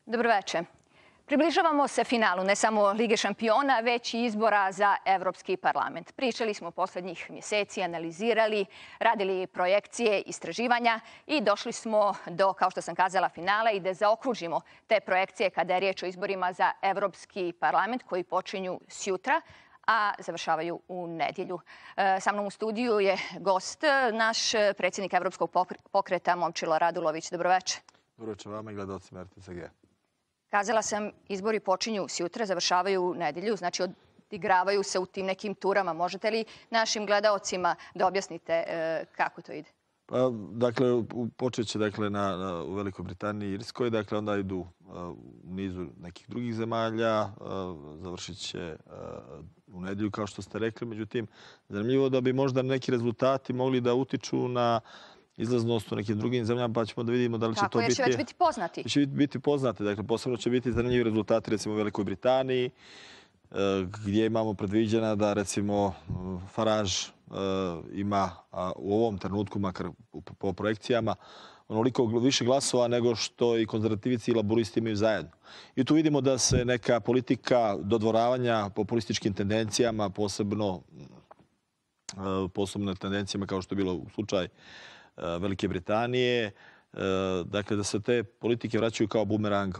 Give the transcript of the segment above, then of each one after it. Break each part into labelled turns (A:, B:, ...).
A: Dobroveče. Približavamo se finalu ne samo Lige šampiona, već i izbora za Evropski parlament. Pričali smo poslednjih mjeseci, analizirali, radili projekcije, istraživanja i došli smo do, kao što sam kazala, finala i da zaokružimo te projekcije kada je riječ o izborima za Evropski parlament koji počinju sjutra, a završavaju u nedjelju. Sa mnom u studiju je gost, naš predsjednik Evropskog pokreta Momčilo Radulović. Dobroveče.
B: Dobroveče vama i gledalcima RTCG.
A: Kazala sam, izbori počinju sjutra, završavaju u nedjelju, znači odigravaju se u tim nekim turama. Možete li našim gledaocima da objasnite kako to ide?
B: Pa, dakle, počet će u Velikoj Britaniji i Irskoj, dakle onda idu u nizu nekih drugih zemalja, završit će u nedjelju, kao što ste rekli. Međutim, zanimljivo da bi možda neki rezultati mogli da utiču na izlaznost u nekim drugim zemljama, pa ćemo da vidimo da li će to biti...
A: Kako, jer će već biti poznati?
B: Će biti poznati, dakle, posebno će biti zanimljivi rezultati, recimo, u Velikoj Britaniji, gdje imamo predviđena da, recimo, Farage ima u ovom trenutku, makar po projekcijama, onoliko više glasova nego što i konzervativici i laburisti imaju zajedno. I tu vidimo da se neka politika dodvoravanja populističkim tendencijama, posebno tendencijama kao što je bilo u slučaju Velike Britanije, dakle da se te politike vraćaju kao bumerang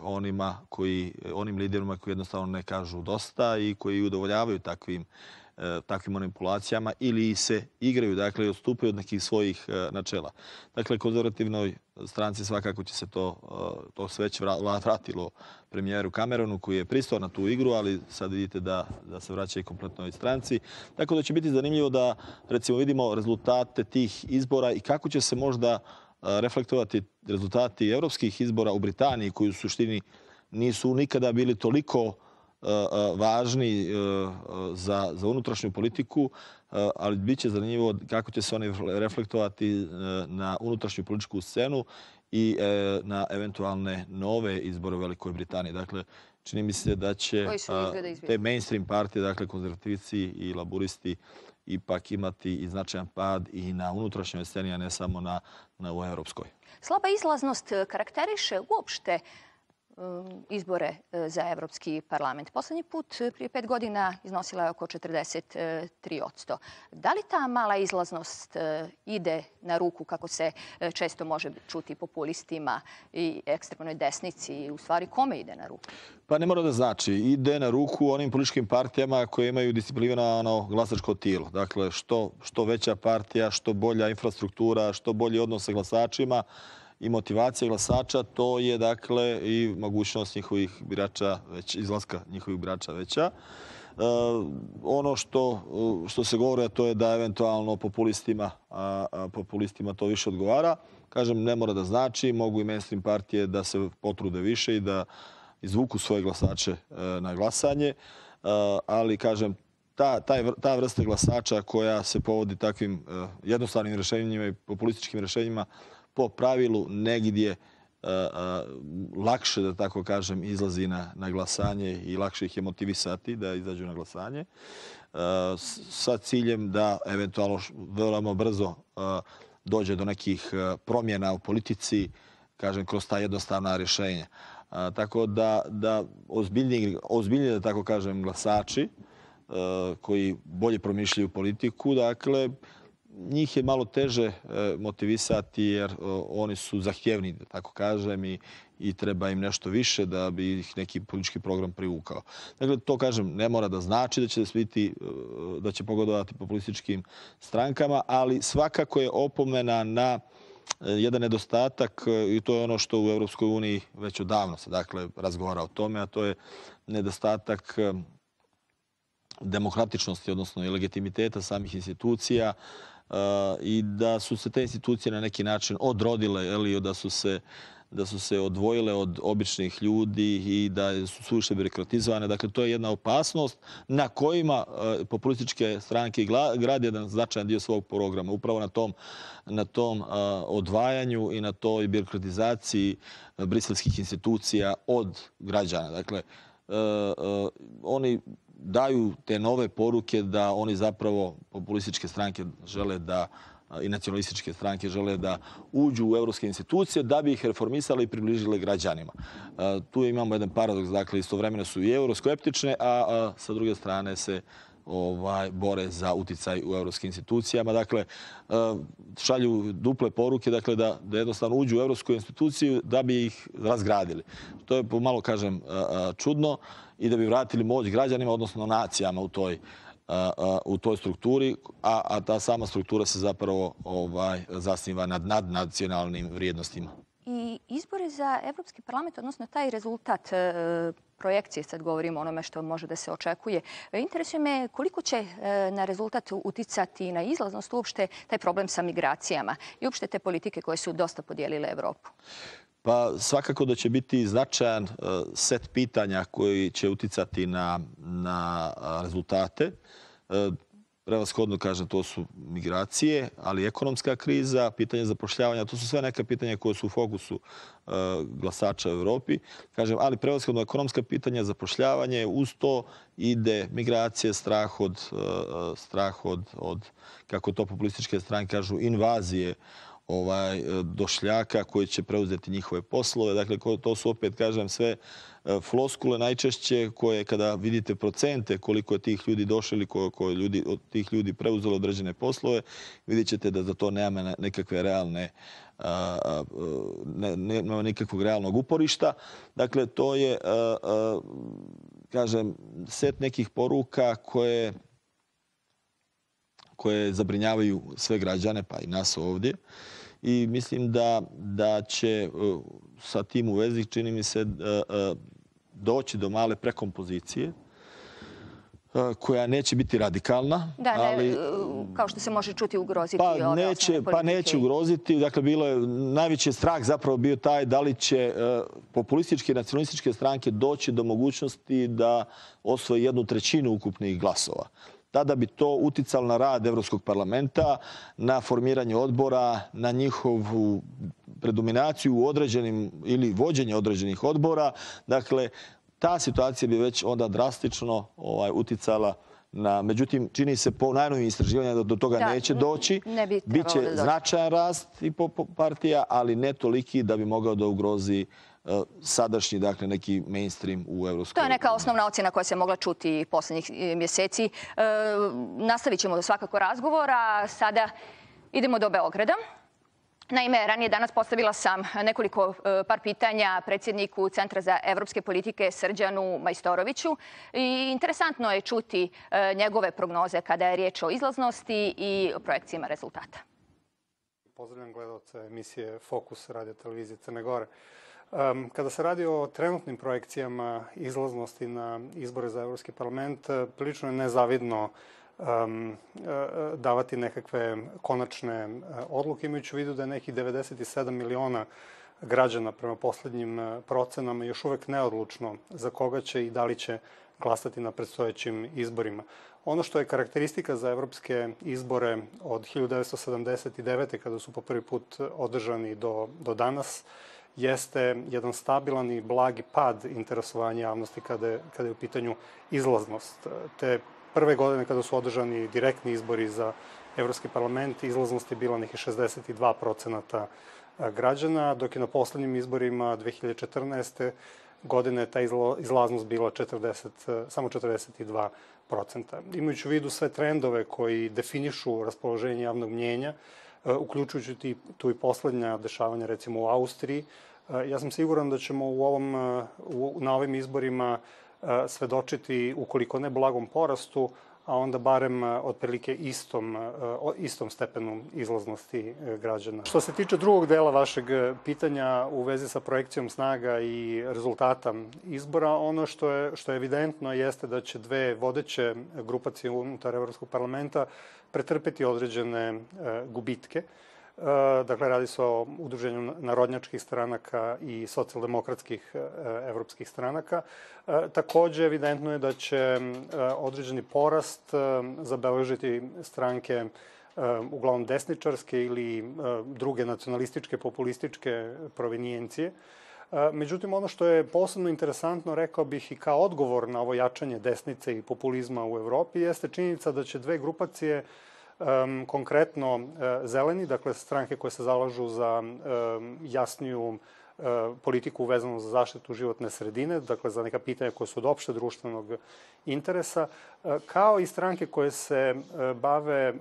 B: onim liderima koji jednostavno ne kažu dosta i koji udovoljavaju takvim manipulacijama ili se igraju, dakle i odstupaju od nekih svojih načela. Dakle, konzervativnoj stranci svakako će se to sve već vratilo premijeru Cameronu koji je pristao na tu igru, ali sad vidite da se vraća i kompletnoj stranci. Tako da će biti zanimljivo da, recimo, vidimo rezultate tih izbora i kako će se možda reflektovati rezultati evropskih izbora u Britaniji, koji u suštini nisu nikada bili toliko važni za unutrašnju politiku, ali bit će zanimljivo kako će se oni reflektovati na unutrašnju političku scenu i na eventualne nove izbore u Velikoj Britaniji. Dakle, čini mi se da će te mainstream partije, dakle konzervativici i laburisti, ipak imati i značajan pad i na unutrašnjoj sceni, a ne samo na u evropskoj.
A: Slaba izlaznost karakteriše uopšte izbore za Evropski parlament. Poslednji put, prije 5 godina, iznosila je oko 43%. Da li ta mala izlaznost ide na ruku, kako se često može čuti, populistima i ekstremnoj desnici? I u stvari, kome ide na ruku?
B: Pa ne mora da znači. Ide na ruku onim političkim partijama koje imaju disciplinovano glasačko tijelo. Dakle, što veća partija, što bolja infrastruktura, što bolji odnos sa glasačima i motivacija glasača, to je, dakle, i mogućnost njihovih birača, izlaska njihovih birača veća. Ono što se govori, to je da eventualno populistima to više odgovara. Kažem, ne mora da znači, mogu i mainstream partije da se potrude više i da izvuku svoje glasače na glasanje, ali, kažem, ta vrsta glasača koja se povodi takvim jednostavnim rješenjima i populističkim rješenjima po pravilu negdje lakše, da tako kažem, izlazi na glasanje i lakše ih je motivisati da izađu na glasanje sa ciljem da eventualno veoma brzo dođe do nekih promjena u politici, kažem, kroz ta jednostavna rješenja. Tako da ozbiljnije, da tako kažem, glasači koji bolje promišljaju politiku, dakle, njih je malo teže motivisati jer oni su zahtjevni, da tako kažem, i treba im nešto više da bi ih neki politički program privukao. Dakle, to, kažem, ne mora da znači da će pogodovati populističkim strankama, ali svakako je opomena na jedan nedostatak, i to je ono što u Europskoj uniji već odavno se, dakle, razgovara o tome, a to je nedostatak demokratičnosti, odnosno i legitimiteta samih institucija, i da su se te institucije na neki način odrodile, da su se odvojile od običnih ljudi i da su suviše birokratizovane. Dakle, to je jedna opasnost na kojima populističke stranke grade jedan značajan dio svog programa. Upravo na tom odvajanju i na toj birokratizaciji briselskih institucija od građana. Dakle, oni daju te nove poruke da oni zapravo, populističke stranke, žele da i nacionalističke stranke žele da uđu u evropske institucije da bi ih reformisali i približili građanima. Tu imamo jedan paradoks, dakle istovremeno su i euroskeptične, a sa druge strane se bore za uticaj u evropskim institucijama. Dakle, šalju duple poruke, dakle, da jednostavno uđu u evropsku instituciju da bi ih razgradili. To je pomalo, kažem, čudno i da bi vratili moć građanima, odnosno nacijama u toj strukturi, a ta sama struktura se zapravo zasniva nad nadnacionalnim vrijednostima.
A: I izbori za Evropski parlament, odnosno taj rezultat projekcije, sad govorimo o onome što može da se očekuje, interesuje me koliko će na rezultat uticati na izlaznost uopšte taj problem sa migracijama i uopšte te politike koje su dosta podijelile Evropu.
B: Pa svakako da će biti značajan set pitanja koji će uticati na rezultate. Prevashodno, kažem, to su migracije, ali ekonomska kriza, pitanje zapošljavanja, to su sve neka pitanja koje su u fokusu glasača u Evropi. Kažem, ali prevashodno ekonomska pitanja, zapošljavanje, uz to ide migracije, strah od, kako to populističke stranke kažu, invazije došljaka koji će preuzeti njihove poslove. Dakle, to su opet, kažem, sve floskule najčešće koje kada vidite procente koliko je tih ljudi došli ili koliko je od tih ljudi preuzelo određene poslove, vidjet ćete da za to nema nekakve realne nema nikakvog realnog uporišta. Dakle, to je, kažem, set nekih poruka koje zabrinjavaju sve građane, pa i nas ovdje. I mislim da će sa tim u vezi, čini mi se, doći do male prekompozicije koja neće biti radikalna.
A: Da, ali, kao što se može čuti, ugroziti ove osnovne politike.
B: Pa neće ugroziti. Dakle, najveći strah zapravo bio taj da li će populističke i nacionalističke stranke doći do mogućnosti da osvoje 1/3 ukupnih glasova. Tada bi to uticalo na rad Evropskog parlamenta, na formiranje odbora, na njihovu predominaciju u određenim ili vođenje određenih odbora. Dakle, ta situacija bi već onda drastično uticala na... Međutim, čini se po najnovim istraživanjima da do toga neće doći. Biće značajan rast i po partija, ali ne toliki da bi mogao da ugrozi sadašnji, dakle, neki mainstream u Evropskoj.
A: To je neka osnovna ocjena koja se mogla čuti posljednjih mjeseci. Nastavit ćemo svakako razgovor, a sada idemo do Beograda. Naime, ranije danas postavila sam nekoliko par pitanja predsjedniku Centra za evropske politike Srđanu Majstoroviću i interesantno je čuti njegove prognoze kada je riječ o izlaznosti i projekcijama rezultata.
C: Pozdravljam gledalce emisije Fokus radio televizije Crne Gore. Kada se radi o trenutnim projekcijama izlaznosti na izbore za Evropski parlament, prilično je nezavidno davati nekakve konačne odluke, imajući u vidu da je nekih 97 miliona građana prema posljednjim procenama još uvek neodlučno za koga će i da li će glasati na predstojećim izborima. Ono što je karakteristika za evropske izbore od 1979. kada su po prvi put održani do danas, jeste jedan stabilan i blagi pad interesovanja javnosti kada je u pitanju izlaznost. Te prve godine kada su održani direktni izbori za Evropski parlament, izlaznost je bila nekih 62% građana, dok je na poslednjim izborima 2014. godine ta izlaznost bila samo 42%. Imajući u vidu sve trendove koji definišu raspoloženje javnog mnjenja, uključujući tu i poslednja dešavanja, recimo u Austriji, ja sam siguran da ćemo na ovim izborima svedočiti, ukoliko ne blagom porastu, a onda barem otprilike istom stepenu izlaznosti građana. Što se tiče drugog dela vašeg pitanja u vezi sa projekcijom snaga i rezultata izbora, ono što je evidentno jeste da će dve vodeće grupacije unutar Evropskog parlamenta pretrpeti određene gubitke. Dakle, radi se o udruženju narodnjačkih stranaka i socijaldemokratskih evropskih stranaka. Takođe, evidentno je da će određeni porast zabeležiti stranke uglavnom desničarske ili druge nacionalističke, populističke provenijencije. Međutim, ono što je posebno interesantno, rekao bih i kao odgovor na ovo jačanje desnice i populizma u Evropi, jeste činjenica da će dve grupacije Konkretno zeleni, dakle stranke koje se zalažu za jasniju politiku vezanu za zaštitu životne sredine, dakle za neka pitanja koje su od opšte društvenog interesa, kao i stranke koje se bave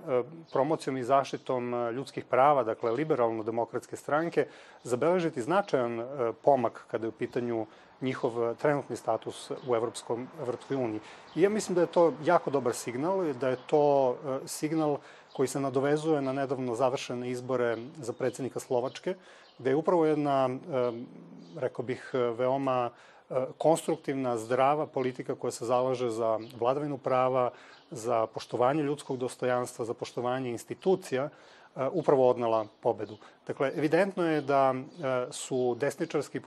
C: promocijom i zaštitom ljudskih prava, dakle liberalno-demokratske stranke, zabeležiti značajan pomak kada je u pitanju njihov trenutni status u Evropskoj uniji. I ja mislim da je to jako dobar signal, da je to signal koji se nadovezuje na nedavno završene izbore za predsjednika Slovačke, gde je upravo jedna, rekao bih, veoma konstruktivna, zdrava politika koja se zalaže za vladavinu prava, za poštovanje ljudskog dostojanstva, za poštovanje institucija, upravo odnela pobedu. Dakle, evidentno je da su desničarske i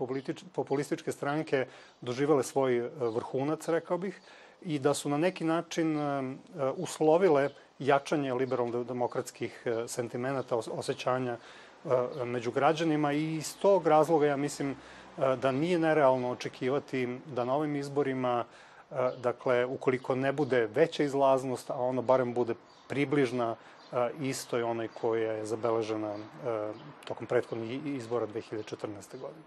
C: populističke stranke doživele svoj vrhunac, rekao bih, i da su na neki način uslovile jačanje liberalno-demokratskih sentimenata, osjećanja među građanima i iz tog razloga ja mislim da nije nerealno očekivati da na ovim izborima, dakle, ukoliko ne bude veća izlaznost, a ono barem bude približna istoj onoj koja je zabeležena tokom prethodnih izbora 2014. godine.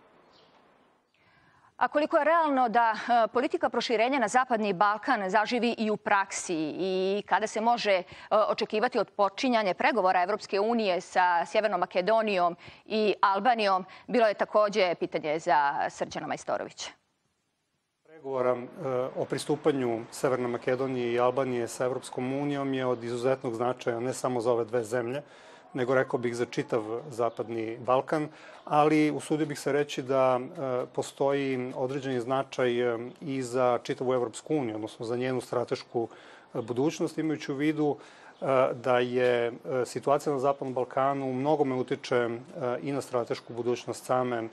A: A koliko je realno da politika proširenja na Zapadni Balkan zaživi i u praksi i kada se može očekivati od počinjanja pregovora Evropske unije sa Sjevernom Makedonijom i Albanijom, bilo je takođe pitanje za Srđana Majstorovića.
C: Pregovora o pristupanju Severne Makedonije i Albanije sa Evropskom unijom je od izuzetnog značaja ne samo za ove dve zemlje, nego rekao bih za čitav Zapadni Balkan, ali usudio bih se reći da postoji određeni značaj i za čitavu Evropsku uniju, odnosno za njenu stratešku budućnost, imajući u vidu da je situacija na Zapadnom Balkanu u mnogome utiče i na stratešku budućnost same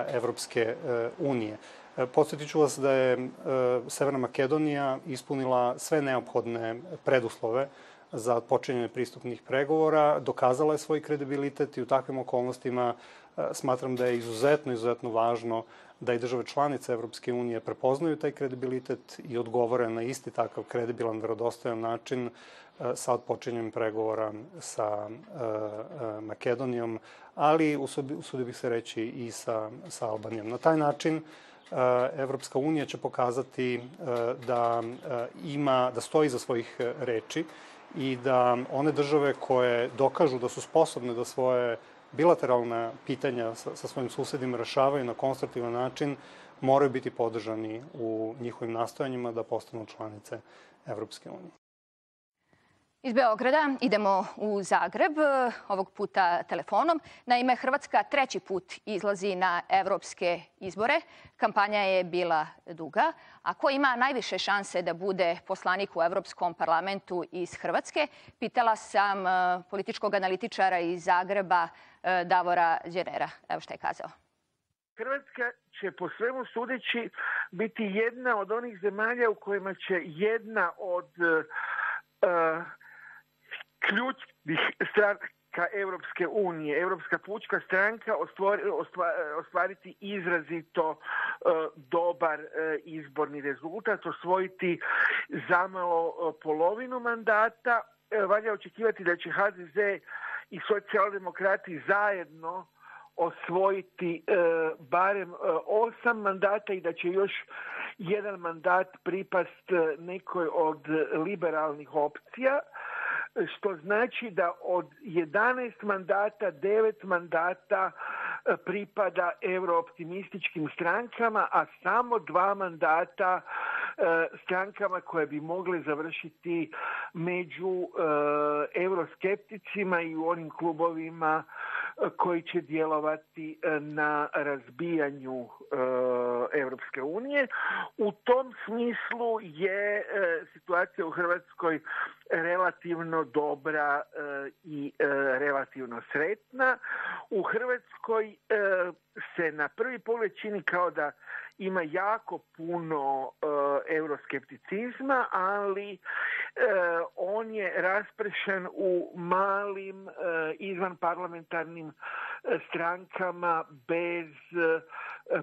C: Evropske unije. Podsjetit ću vas da je Severna Makedonija ispunila sve neophodne preduslove za počinjanje pristupnih pregovora, dokazala je svoj kredibilitet i u takvim okolnostima smatram da je izuzetno važno da i države članice Evropske unije prepoznaju taj kredibilitet i odgovore na isti takav kredibilan, verodostojan način sa odpočinjanjem pregovora sa Makedonijom, ali usudio bih se reći i sa Albanijom. Na taj način Evropska unija će pokazati da stoji za svojih reči i da one države koje dokažu da su sposobne da svoje bilateralna pitanja sa svojim susedima rešavaju na konstruktivan način, moraju biti podržani u njihovim nastojanjima da postanu članice Evropske unije.
A: Iz Beograda idemo u Zagreb, ovog puta telefonom. Naime, Hrvatska treći put izlazi na evropske izbore. Kampanja je bila duga. A ko ima najviše šanse da bude poslanik u Evropskom parlamentu iz Hrvatske? Pitala sam političkog analitičara iz Zagreba, Davora Đenera. Evo šta je kazao.
D: Hrvatska će po svemu sudeći biti jedna od onih zemalja u kojima će jedna od ključnih stranaka Evropske unije, Evropska pučka stranka, ostvariti izrazito dobar izborni rezultat, osvojiti zamalo polovinu mandata. Valja očekivati da će HDZ i socijaldemokrati zajedno osvojiti barem 8 mandata i da će još jedan mandat pripast nekoj od liberalnih opcija, što znači da od 11 mandata, 9 mandata pripada eurooptimističkim strankama, a samo 2 mandata strankama koje bi mogle završiti među euroskepticima i u onim klubovima koji će djelovati na razbijanju Evropske unije. U tom smislu je situacija u Hrvatskoj relativno dobra i relativno sretna. U Hrvatskoj se na prvi pogled čini kao da ima jako puno euroskepticizma, ali on je raspršen u malim izvanparlamentarnim strankama bez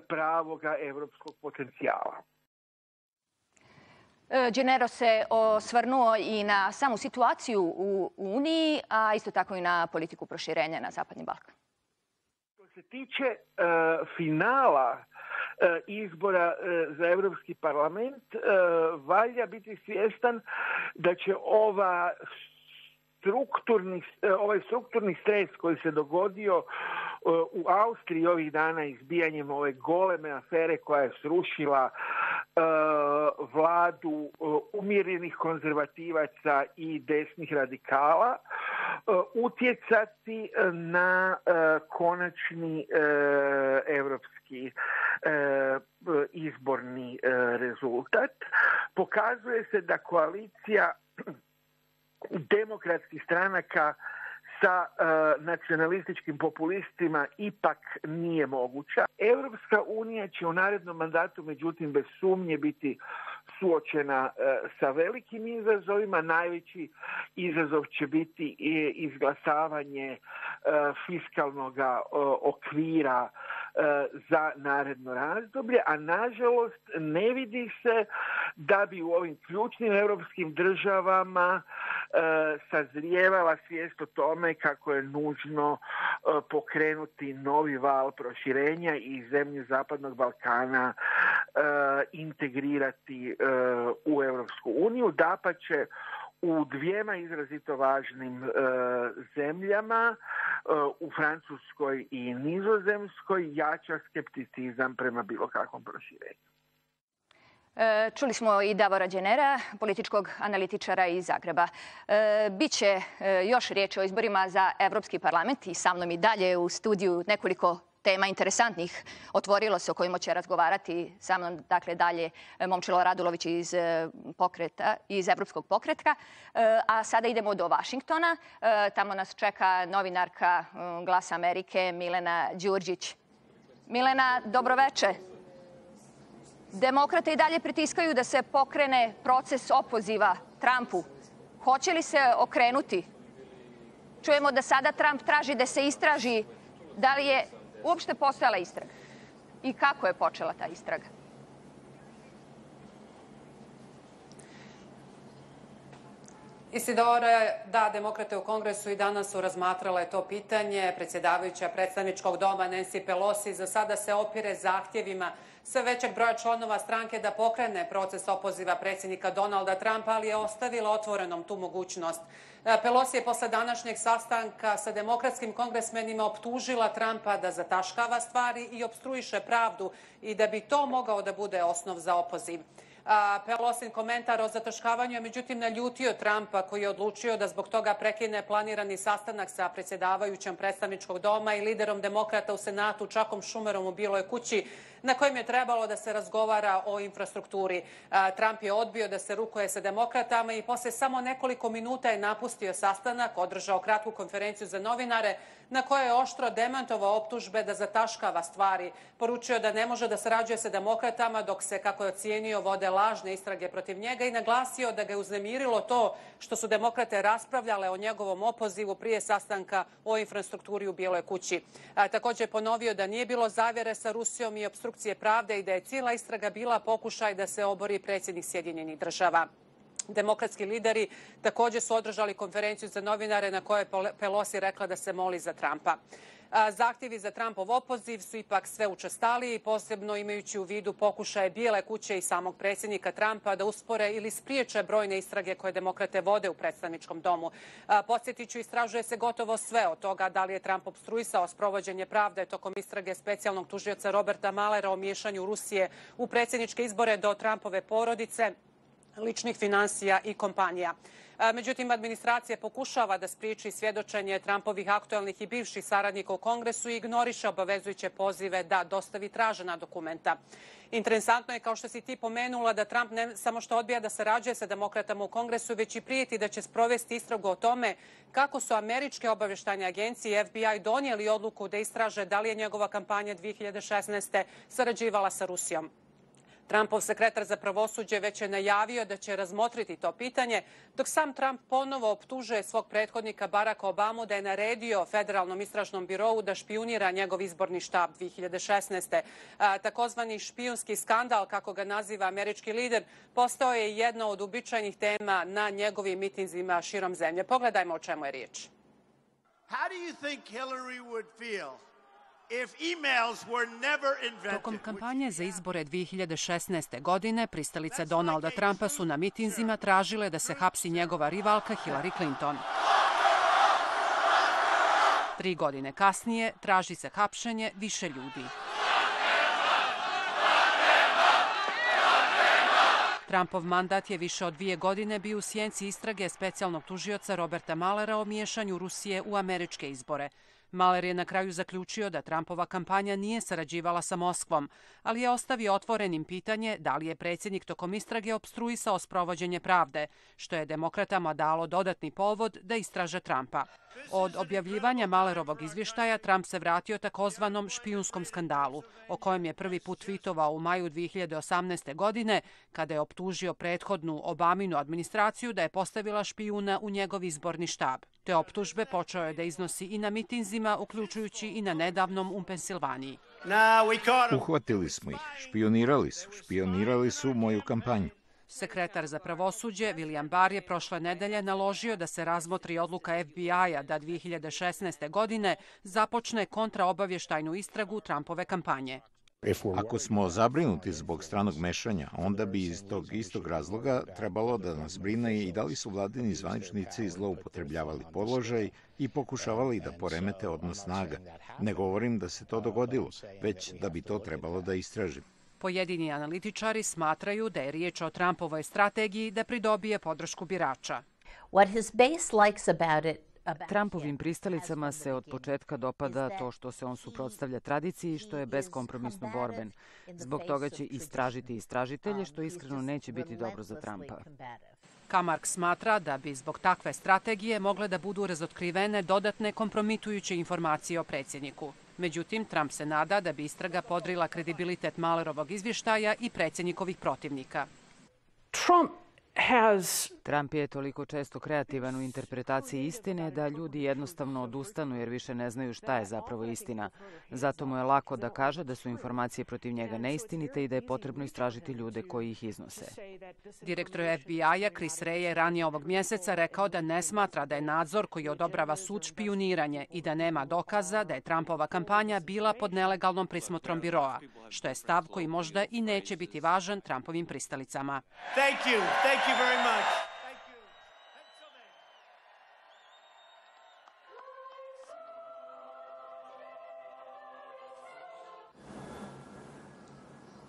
D: pravoga evropskog potencijala.
A: Gennaro se osvrnuo i na samu situaciju u Uniji, a isto tako i na politiku proširenja na Zapadni Balkan.
D: Što se tiče finala izbora za Evropski parlament, valja biti svjestan da će ovaj strukturni stres koji se dogodio u Austriji ovih dana izbijanjem ove goleme afere koja je srušila vladu umjerenih konzervativaca i desnih radikala, utjecati na konačni evropski izborni rezultat. Pokazuje se da koalicija demokratskih stranaka sa nacionalističkim populistima ipak nije moguća. Evropska unija će u narednom mandatu, međutim, bez sumnje biti suočena sa velikim izazovima. Najveći izazov će biti izglasavanje fiskalnog okvira za naredno razdoblje, a nažalost ne vidi se da bi u ovim ključnim evropskim državama sazrijevala svijest o tome kako je nužno pokrenuti novi val proširenja i zemlje Zapadnog Balkana integrirati u Evropsku uniju. Dapače, u dvijema izrazito važnim zemljama, u Francuskoj i Nizozemskoj, jača skepticizam prema bilo kakvom proširenju.
A: Čuli smo i Davora Gennera, političkog analitičara iz Zagreba. Biće još riječi o izborima za Evropski parlament i sa mnom i dalje u studiju nekoliko tema interesantnih otvorilo se o kojima će razgovarati sa mnom, dakle dalje Momčilo Radulović iz Evropskog pokretka. A sada idemo do Vašingtona. Tamo nas čeka novinarka Glasa Amerike Milena Đurđić. Milena, dobroveče. Demokrate i dalje pritiskaju da se pokrene proces opoziva Trumpu. Hoće li se okrenuti? Čujemo da sada Trump traži da se istraži da li je uopšte postojala istraga i kako je počela ta istraga.
E: Isidore, da, demokrate u Kongresu i danas su razmatrale to pitanje. Predsjedavajuća predstavničkog doma Nancy Pelosi za sada se opire zahtjevima sve većeg broja članova stranke da pokrene proces opoziva predsjednika Donalda Trumpa, ali je ostavila otvorenom tu mogućnost. Pelosi je posle današnjeg sastanka sa demokratskim kongresmenima optužila Trumpa da zataškava stvari i opstruiše pravdu i da bi to mogao da bude osnov za opoziv. Pelosin komentar o zataškavanju je međutim naljutio Trumpa, koji je odlučio da zbog toga prekine planirani sastanak sa predsjedavajućom predstavničkog doma i liderom demokrata u Senatu Chuckom Schumerom u Bijeloj kući, na kojem je trebalo da se razgovara o infrastrukturi. Trump je odbio da se rukuje sa demokratama i posle samo nekoliko minuta je napustio sastanak, održao kratku konferenciju za novinare na kojoj je oštro demantovao optužbe da zataškava stvari. Poručio da ne može da sarađuje sa demokratama dok se, kako je ocijenio, vode lažne istrage protiv njega i naglasio da ga je uznemirilo to što su demokrate raspravljale o njegovom opozivu prije sastanka o infrastrukturi u Bijeloj kući. Također je ponovio da nije bilo zavjere sa Rusijom i opstrukcije pravde i da je cijela istraga bila pokušaj da se obori predsjednik Sjedinjenih Država. Demokratski lideri također su održali konferenciju za novinare na kojoj je Pelosi rekla da se moli za Trumpa. Zahtjevi za Trumpov opoziv su ipak sve učestaliji, posebno imajući u vidu pokušaje Bijele kuće i samog predsjednika Trumpa da uspore ili spriječe brojne istrage koje demokrate vode u predstavničkom domu. Podsjetiću, istražuje se gotovo sve od toga da li je Trump opstruisao sprovođenje pravde tokom istrage specijalnog tužioca Roberta Muellera o miješanju Rusije u predsjedničke izbore do Trumpove porodice, ličnih finansija i kompanija. Međutim, administracija pokušava da spriječi svjedočenje Trumpovih aktualnih i bivših saradnika u Kongresu i ignoriše obavezujuće pozive da dostavi tražena dokumenta. Interesantno je, kao što si ti pomenula, da Trump ne samo što odbija da sarađuje sa demokratama u Kongresu, već i prijeti da će sprovesti istragu o tome kako su američke obavještajne agencije i FBI donijeli odluku da istraže da li je njegova kampanja 2016. sarađivala sa Rusijom. Trumpov sekretar za pravosuđe već je najavio da će razmotriti to pitanje, dok sam Trump ponovo optužuje svog prethodnika Baracka Obamu da je naredio Federalnom istražnom birou da špijunira njegov izborni štab 2016. Takozvani špijunski skandal, kako ga naziva američki lider, postao je jedna od uobičajenih tema na njegovim mitinzima širom zemlje. Pogledajmo o čemu je riječ.
F: How do you think Hillary would feel if emails were never invented?
E: Tokom kampanje za izbore 2016. godine pristalice Donalda Trumpa su na mitinzima tražile da se hapsi njegova rivalka Hillary Clinton. 3 godine kasnije traži se hapšenje više ljudi. Trumpov mandat je više od 2 godine bio u sjenci istrage specijalnog tužioca Roberta Muellera o miješanju Rusije u američke izbore. Mueller je na kraju zaključio da Trumpova kampanja nije sarađivala sa Moskvom, ali je ostavio otvorenim pitanje da li je predsjednik tokom istrage opstruisao sprovođenje pravde, što je demokratama dalo dodatni povod da istraže Trumpa. Od objavljivanja Muellerovog izvještaja Trump se vratio takozvanom špijunskom skandalu, o kojem je prvi put tweetovao u maju 2018. godine, kada je optužio prethodnu Obaminu administraciju da je postavila špijuna u njegov izborni štab. Te optužbe počeo je da iznosi i na mitinzima, uključujući i na nedavnom u Pensilvaniji.
G: Uhvatili smo ih, špionirali su moju kampanju.
E: Sekretar za pravosuđe William Barr je prošle nedelje naložio da se razmotri odluka FBI-a da 2016. godine započne kontraobavještajnu istragu Trumpove kampanje.
G: Ako smo zabrinuti zbog stranog mešanja, onda bi iz tog istog razloga trebalo da nas brine i da li su vladini zvaničnici zloupotrebljavali položaj i pokušavali da poremete odnos snaga. Ne govorim da se to dogodilo, već da bi to trebalo da istražim.
E: Pojedini analitičari smatraju da je riječ o Trumpovoj strategiji da pridobije podršku birača.
H: Trumpovim pristalicama se od početka dopada to što se on suprotstavlja tradiciji i što je beskompromisno borben. Zbog toga će istražiti istražitelje, što iskreno neće biti dobro za Trumpa.
E: Kamark smatra da bi zbog takve strategije mogle da budu razotkrivene dodatne kompromitujuće informacije o predsjedniku. Međutim, Trump se nada da bi istraga podrila kredibilitet Muellerovog izvještaja i predsjednikovih protivnika.
H: Trump je toliko često kreativan u interpretaciji istine da ljudi jednostavno odustanu jer više ne znaju šta je zapravo istina. Zato mu je lako da kaže da su informacije protiv njega neistinite i da je potrebno istražiti ljude koji ih iznose.
E: Direktor FBI-a Chris Wray je ranije ovog mjeseca rekao da ne smatra da je nadzor koji odobrava sud špijuniranje i da nema dokaza da je Trumpova kampanja bila pod nelegalnom prismotrom biroa, što je stav koji možda i neće biti važan Trumpovim pristalicama.
F: Thank you very much.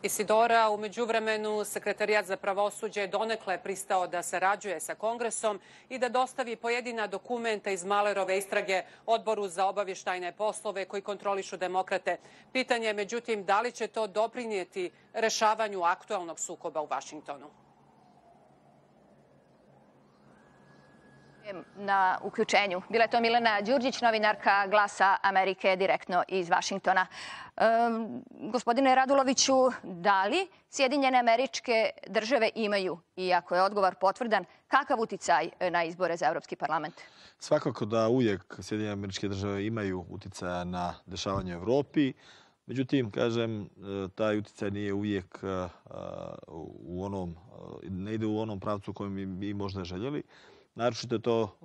E: Isidora, u međuvremenu Sekretarijat za pravosuđe je donekle pristao da sarađuje sa Kongresom i da dostavi pojedina dokumenta iz Muellerove istrage Odboru za obavještajne poslove koji kontrolišu demokrate. Pitanje je, međutim, da li će to doprinijeti rešavanju aktualnog sukoba u Vašingtonu?
A: Na uključenju. Bila je to Milena Đurđić, novinarka Glasa Amerike, direktno iz Vašingtona. Gospodine Raduloviću, da li Sjedinjene Američke Države imaju, i ako je odgovor potvrdan, kakav uticaj na izbore za Evropski parlament?
B: Svakako da uvijek Sjedinjene Američke Države imaju uticaja na dešavanje u Evropi. Međutim, kažem, taj uticaj nije uvijek ne ide u onom pravcu kojem bi mi možda željeli. Naročito je to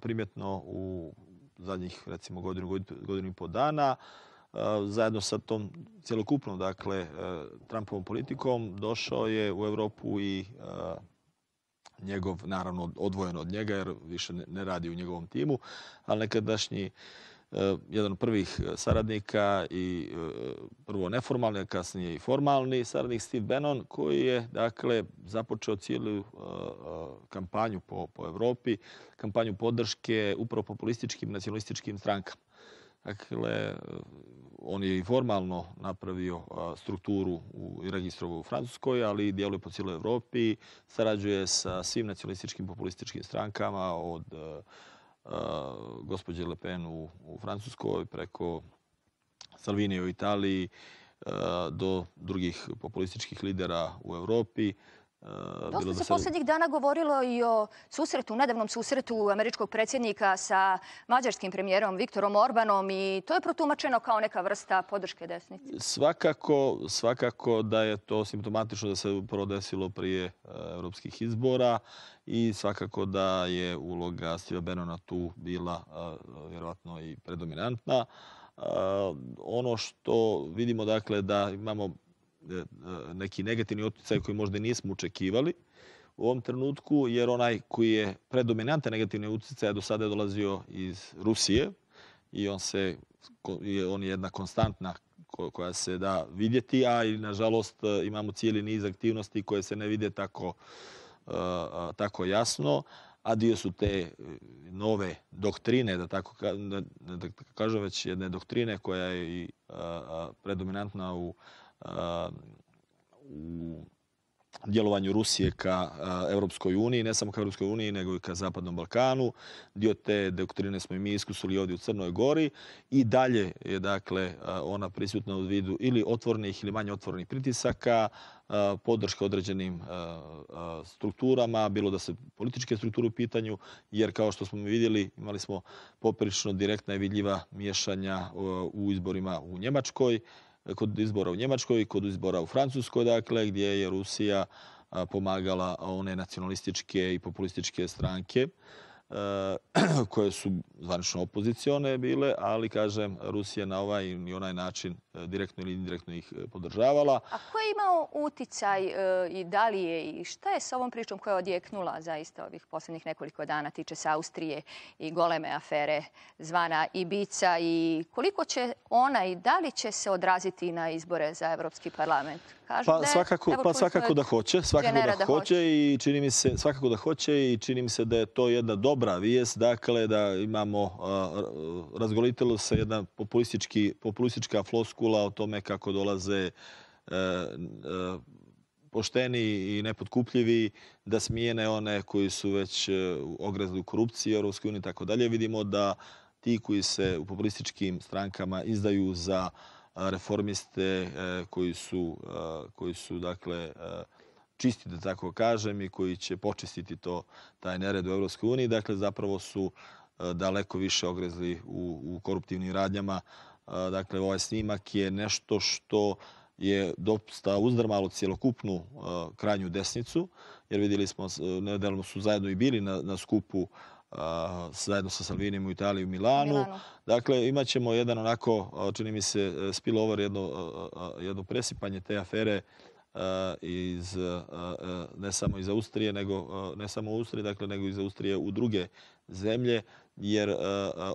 B: primjetno u zadnjih, recimo, godinu i pol dana. Zajedno sa tom cjelokupnom, dakle, Trumpovom politikom došao je u Evropu i njegov, naravno, odvojen od njega, jer više ne radi u njegovom timu, ali nekadašnji jedan od prvih saradnika i prvo neformalni, a kasnije i formalni saradnik Steve Bannon, koji je, dakle, započeo cijelu kampanju po Evropi, kampanju podrške upravo populističkim, nacionalističkim strankama. Dakle, on je i formalno napravio strukturu i registrovao u Francuskoj, ali djeluje po cijeloj Evropi, sarađuje sa svim nacionalističkim populističkim strankama od gospođe Le Pen u Francuskoj, preko Salvinija u Italiji, do drugih populističkih lidera u Evropi.
A: Dosta se poslednjih dana govorilo i o nedavnom susretu američkog predsjednika sa mađarskim premijerom Viktorom Orbanom i to je protumačeno kao neka vrsta podrške desnici.
B: Svakako da je to simptomatično da se upravo desilo prije evropskih izbora i svakako da je uloga Steva Bannona tu bila vjerovatno i predominantna. Ono što vidimo, dakle, da imamo neki negativni utjecaj koji možda nismo očekivali u ovom trenutku, jer onaj koji je predominantan negativni utjecaj do sada je dolazio iz Rusije i on je jedna konstantna koja se da vidjeti, a i nažalost imamo cijeli niz aktivnosti koje se ne vide tako jasno, a dio su te nove doktrine, da tako kažem, već jedne doktrine koja je i predominantna u djelovanju Rusije ka Europskoj uniji, ne samo ka Europskoj uniji, nego i ka Zapadnom Balkanu. Dio te doktrine smo i mi iskusili ovdje u Crnoj Gori i dalje je, dakle, ona prisutna u vidu ili otvorenih ili manje otvorenih pritisaka, podrška određenim strukturama, bilo da se političke strukture u pitanju, jer kao što smo vidjeli, imali smo poprilično direktna i vidljiva miješanja u izborima u Njemačkoj, kod izbora u Njemačkoj i kod izbora u Francuskoj, dakle, gdje je Rusija pomagala one nacionalističke i populističke stranke koje su zvanično opozicione bile, ali, kažem, Rusija na ovaj i onaj način direktno ili indirektno ih podržavala.
A: A ko je imao uticaj i da li je i šta je sa ovom pričom koja je odjeknula zaista ovih posljednjih nekoliko dana, tiče se Austrije i goleme afere zvana Ibiza, i koliko će ona i da li će se odraziti na izbore za Evropski parlament?
B: Svakako da hoće. Svakako da hoće i čini mi se da je to jedna dobra vijest. Dakle, da imamo, razgolitilo se jedna populistička floskula o tome kako dolaze pošteni i nepotkupljivi da smijene one koji su već ogrezli u korupciji u Europskoj uniji i tako dalje. Vidimo da ti koji se u populističkim strankama izdaju za reformiste koji su dakle čisti, da tako kažem, i koji će počistiti taj nered u Europskoj uniji, dakle zapravo su daleko više ogrezli u koruptivnim radnjama. Dakle, ovaj snimak je nešto što je dosta uzdrmalo cjelokupnu krajnju desnicu, jer vidjeli smo, nedavno su zajedno i bili na skupu zajedno sa Salvinijem u Italiji, u Milanu. Dakle, imat ćemo jedan onako, čini mi se, spillover, jedno presipanje te afere ne samo iz Austrije, ne samo u Austriji, dakle, nego iz Austrije u druge zemlje, jer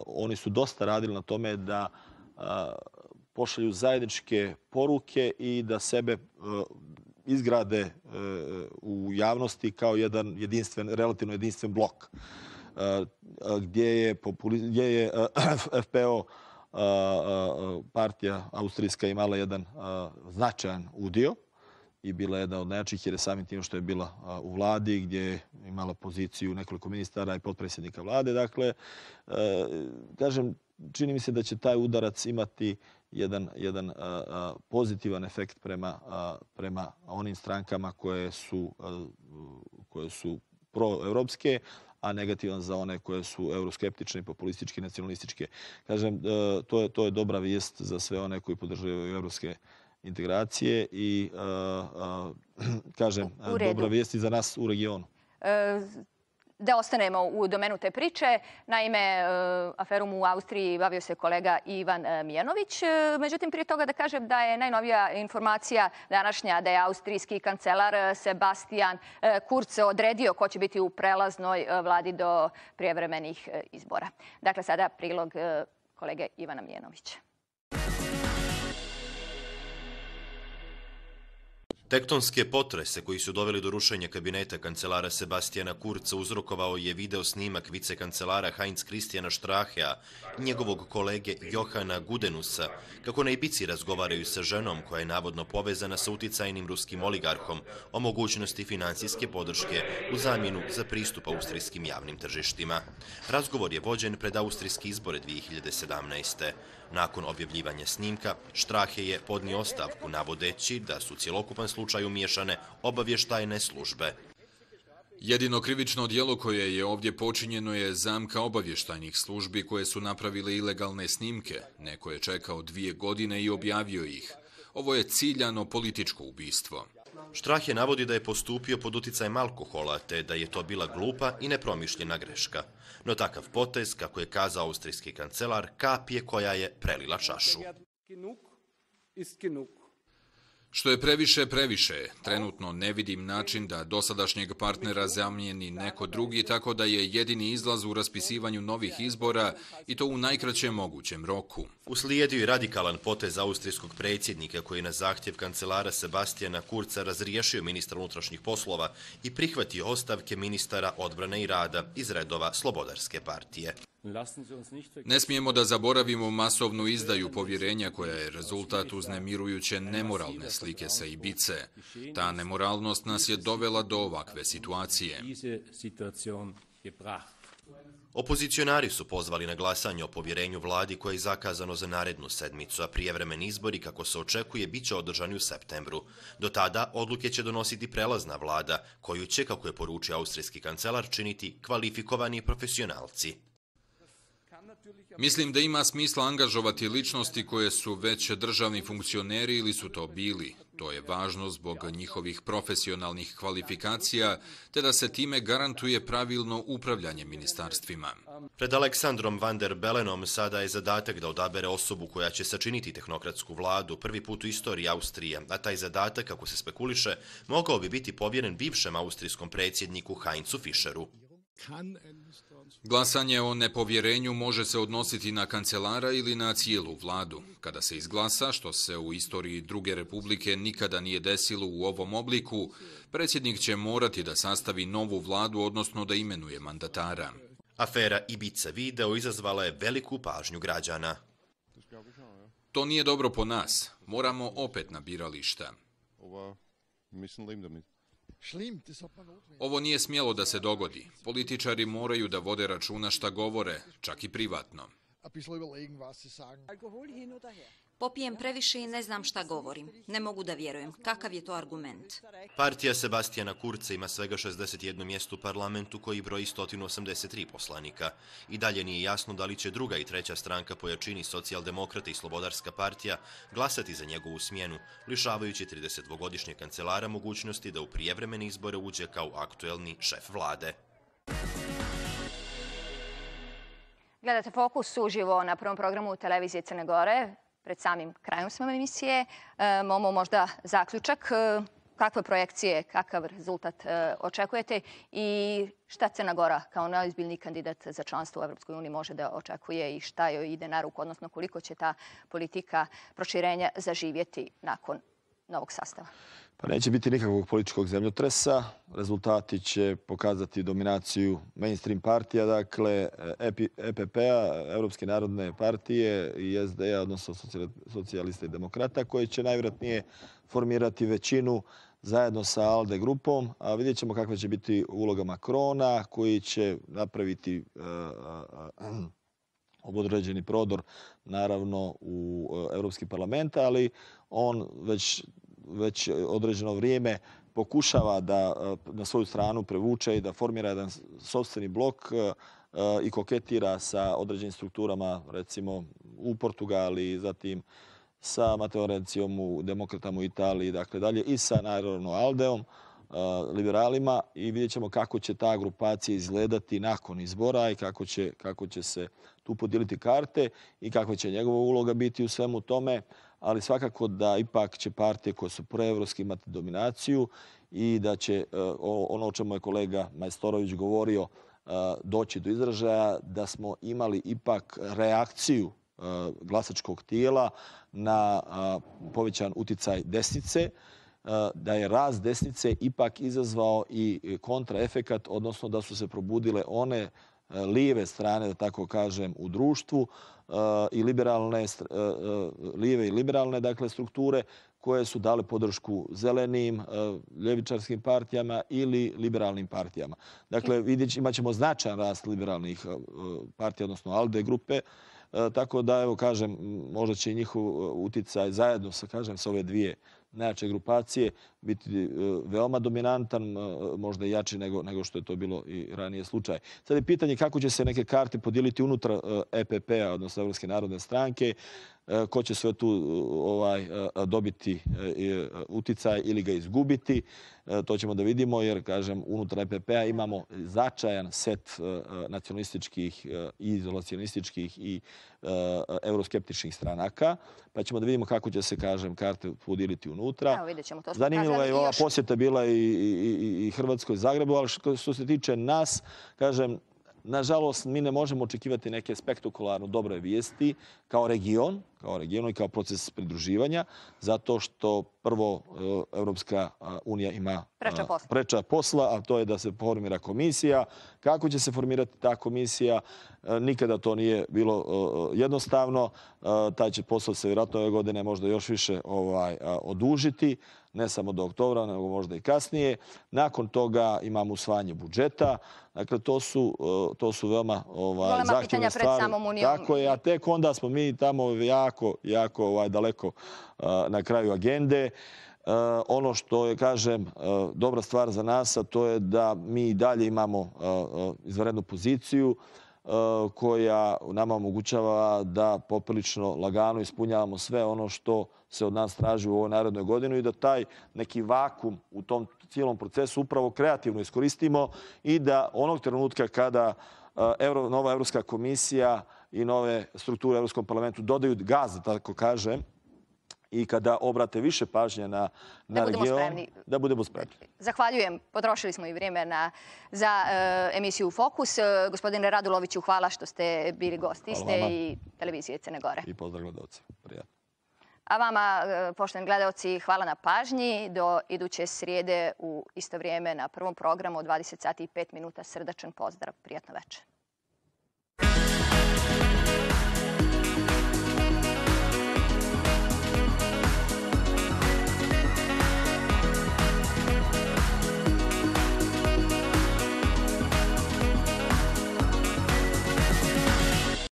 B: oni su dosta radili na tome da pošalju zajedničke poruke i da sebe izgrade u javnosti kao jedan relativno jedinstven blok, gdje je FPO partija austrijska imala jedan značajan udio i bila jedna od najjačih, jer je samim tim što je bila u vladi, gdje je imala poziciju nekoliko ministara i potpredsjednika vlade. Dakle, kažem, čini mi se da će taj udarac imati jedan pozitivan efekt prema onim strankama koje su proevropske, a negativan za one koje su euroskeptične, populističke, nacionalističke. Kažem, to je dobra vijest za sve one koji podržavaju evropske integracije i, kažem, dobra vijest i za nas u regionu.
A: Da ostanemo u domenu te priče. Naime, aferom u Austriji bavio se kolega Ivan Mijanović. Međutim, prije toga da kažem da je najnovija informacija današnja da je austrijski kancelar Sebastian Kurz odredio ko će biti u prelaznoj vladi do prijevremenih izbora. Dakle, sada prilog kolege Ivana Mijanovića.
I: Tektonske potrese koji su doveli do rušenja kabineta kancelara Sebastijana Kurza uzrokovao je video snimak vicekancelara Heinz Christiana Strachea i njegovog kolege Johana Gudenusa, kako na Ibizi razgovaraju sa ženom koja je navodno povezana sa uticajnim ruskim oligarhom o mogućnosti finansijske podrške u zamjenu za pristup austrijskim javnim tržištima. Razgovor je vođen pred austrijski izbore 2017. Nakon objavljivanja snimka, Strache je podnio ostavku navodeći da su cjelokupan slučaj umiješane obavještajne službe.
J: Jedino krivično djelo koje je ovdje počinjeno je zamka obavještajnih službi koje su napravile ilegalne snimke. Neko je čekao 2 godine i objavio ih. Ovo je ciljano političko ubistvo.
I: Strache navodi da je postupio pod uticajem alkohola, te da je to bila glupa i nepromišljena greška. No takav potez, kako je kazao austrijski kancelar, kap je koja je prelila čašu.
J: Što je previše, previše je. Trenutno ne vidim način da dosadašnjeg partnera zamijeni neko drugi, tako da je jedini izlaz u raspisivanju novih izbora i to u najkraćem mogućem roku.
I: Uslijedio je radikalan potez austrijskog predsjednika koji na zahtjev kancelara Sebastiana Kurza razriješio ministra unutrašnjih poslova i prihvatio ostavke ministara odbrane i rada iz redova Slobodarske partije.
J: Ne smijemo da zaboravimo masovnu izdaju povjerenja koja je rezultat uznemirujuće nemoralne slike sa Ibice. Ta nemoralnost nas je dovela do ovakve situacije.
I: Opozicionari su pozvali na glasanje o povjerenju vladi koje je zakazano za narednu sedmicu, a prijevremeni izbori, kako se očekuje, bit će održani u septembru. Do tada odluke će donositi prelazna vlada, koju će, kako je poručio austrijski kancelar, činiti kvalifikovani profesionalci.
J: Mislim da ima smisla angažovati ličnosti koje su već državni funkcioneri ili su to bili. To je važno zbog njihovih profesionalnih kvalifikacija, te da se time garantuje pravilno upravljanje ministarstvima.
I: Pred Aleksandrom van der Bellenom sada je zadatak da odabere osobu koja će sačiniti tehnokratsku vladu prvi put u istoriji Austrije, a taj zadatak, kako se spekuliše, mogao bi biti povjeren bivšem austrijskom predsjedniku Heinzu Fischeru.
J: Glasanje o nepovjerenju može se odnositi na kancelara ili na cijelu vladu. Kada se izglasa, što se u istoriji Druge republike nikada nije desilo u ovom obliku, predsjednik će morati da sastavi novu vladu, odnosno da imenuje mandatara.
I: Afera Ibiza video izazvala je veliku pažnju građana.
J: To nije dobro po nas. Moramo opet na birališta. Ovo nije smjelo da se dogodi. Političari moraju da vode računa šta govore, čak i privatno.
K: Popijem previše i ne znam šta govorim. Ne mogu da vjerujem. Kakav je to argument?
I: Partija Sebastiana Kurza ima svega 61 mjesto u parlamentu koji broji 183 poslanika. I dalje nije jasno da li će druga i treća stranka po jačini Socijaldemokrata i Slobodarska partija glasati za njegovu smjenu, lišavajući 32-godišnjeg kancelara mogućnosti da u prijevremene izbore uđe kao aktuelni šef vlade.
A: Gledate Fokus uživo na prvom programu televizije Crne Gore. Pred samim krajom smo emisije. Momo, možda zaključak. Kakve projekcije, kakav rezultat očekujete i šta Crna Gora kao najozbiljniji kandidat za članstvo u EU može da očekuje i šta joj ide na ruku, odnosno koliko će ta politika proširenja zaživjeti nakon novog sastava?
B: Pa neće biti nikakvog političkog zemljotresa. Rezultati će pokazati dominaciju mainstream partija, dakle EPP-a, Europske narodne partije i SD-a, odnosno socijalista i demokrata, koji će najvjerojatnije formirati većinu zajedno sa ALDE grupom. A vidjet ćemo kakva će biti uloga Macrona, koji će napraviti određeni prodor, naravno, u Europski parlament, ali on već određeno vrijeme pokušava da na svoju stranu prevuče i da formira jedan sopstveni blok i koketira sa određenim strukturama, recimo u Portugaliji, zatim sa Mateo Rencijom u Demokratama u Italiji, dakle dalje, i sa naravno Aldeom, liberalima, i vidjet ćemo kako će ta grupacija izgledati nakon izbora i kako će se tu podijeliti karte i kakva će njegova uloga biti u svemu tome, ali svakako da ipak će partije koje su proevropske imati dominaciju i da će ono o čemu je kolega Majstorović govorio doći do izražaja, da smo imali ipak reakciju glasačkog tijela na povećan uticaj desnice, da je rast desnice ipak izazvao i kontraefekat, odnosno da su se probudile one lijeve strane, da tako kažem, u društvu i lijeve i liberalne, dakle, strukture koje su dale podršku zelenim, ljevičarskim partijama ili liberalnim partijama. Dakle, imat ćemo značajan rast liberalnih partija, odnosno ALDE grupe, Tako da, evo, kažem, možda će i njihov uticaj zajedno sa, kažem, sa ove dvije najjače grupacije biti veoma dominantan, možda i jači nego što je to bilo i ranije slučaj. Sad je pitanje kako će se neke karte podijeliti unutar EPP-a, odnosno Evropske narodne stranke, ko će sve tu dobiti uticaj ili ga izgubiti. To ćemo da vidimo jer, kažem, unutar EPP-a imamo začajan set nacionalističkih i izolacionističkih i euroskeptičnih stranaka, pa ćemo da vidimo kako će se, kažem, karte podijeliti unutra.
A: Evo, vidjet ćemo, to smo
B: Zanimljiva je
A: kazali.
B: ova posjeta bila i Hrvatskoj Zagrebu, ali što se tiče nas, kažem, nažalost, mi ne možemo očekivati neke spektakularno dobre vijesti kao region i kao proces pridruživanja, zato što prvo Evropska unija ima preča posla, a to je da se formira komisija. Kako će se formirati ta komisija? Nikada to nije bilo jednostavno. Taj će posao se vjerojatno ove godine možda još više odužiti, ne samo do oktobra, nego možda i kasnije. Nakon toga imamo usvajanje budžeta. Dakle, to su veoma zahtjevne stvari. Tako je, a tek onda smo mi tamo jako daleko na kraju agende. Ono što je, kažem, dobra stvar za nas, a to je da mi i dalje imamo izvanrednu poziciju koja nama omogućava da poprilično lagano ispunjavamo sve ono što se od nas traži u ovoj narednoj godini i da taj neki vakum u tom cijelom procesu upravo kreativno iskoristimo i da onog trenutka kada nova Evropska komisija i nove strukture u Evropskom parlamentu dodaju gaz, da tako kažem, i kada obrate više pažnje na region, da budemo spremni.
A: Zahvaljujem. Potrošili smo i vrijeme za emisiju Fokus. Gospodine Raduloviću, hvala što ste bili gost iste i televizije Crne Gore.
B: I pozdrav gledalci. Prijatno.
A: A vama, poštovani gledalci, hvala na pažnji. Do iduće srijede u isto vrijeme na prvom programu od 20 sati i 5 minuta. Srdačan pozdrav. Prijatno večer.